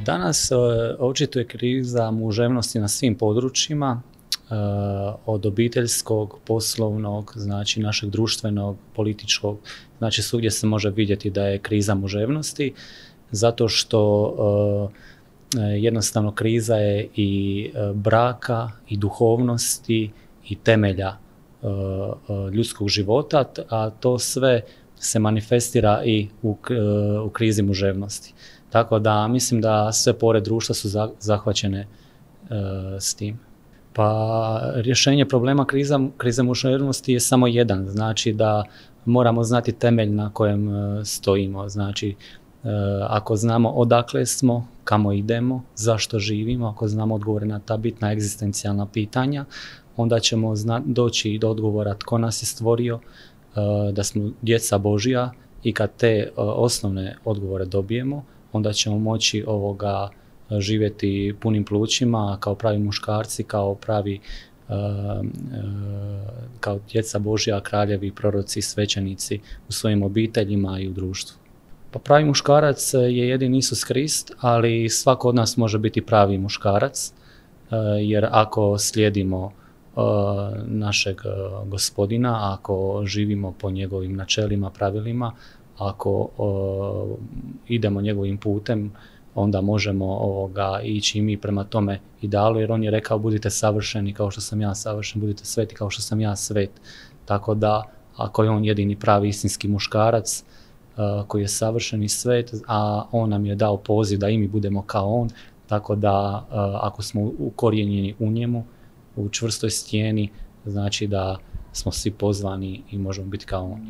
Danas očito je kriza muževnosti na svim područjima, od obiteljskog, poslovnog, znači našeg društvenog, političkog, znači svugdje se može vidjeti da je kriza muževnosti, zato što jednostavno kriza je i braka, i duhovnosti, i temelja ljudskog života, a to sve se manifestira i u krizi muževnosti. Tako da mislim da sve pore društva su zahvaćene s tim. Pa rješenje problema krize muževnosti je samo jedan, znači da moramo znati temelj na kojem stojimo. Znači, ako znamo odakle smo, kamo idemo, zašto živimo, ako znamo odgovore na ta bitna egzistencijalna pitanja, onda ćemo doći do odgovora tko nas je stvorio, da smo djeca Božja, i kad te osnovne odgovore dobijemo, onda ćemo moći živjeti punim plućima, kao pravi muškarci, kao djeca Božja, kraljevi, proroci, svećenici u svojim obiteljima i u društvu. Pa pravi muškarac je jedini Isus Krist, ali svako od nas može biti pravi muškarac, jer ako slijedimo našeg Gospodina, ako živimo po njegovim načelima, pravilima, ako idemo njegovim putem, onda možemo ići i mi prema tome idealu, jer on je rekao budite savršeni kao što sam ja savršen, budite sveti kao što sam ja svet. Tako da, ako je on jedini pravi istinski muškarac koji je savršen i svet, a on nam je dao poziv da i mi budemo kao on, tako da ako smo ukorijenjeni u njemu, u čvrstoj stijeni, znači da smo svi pozvani i možemo biti kao on.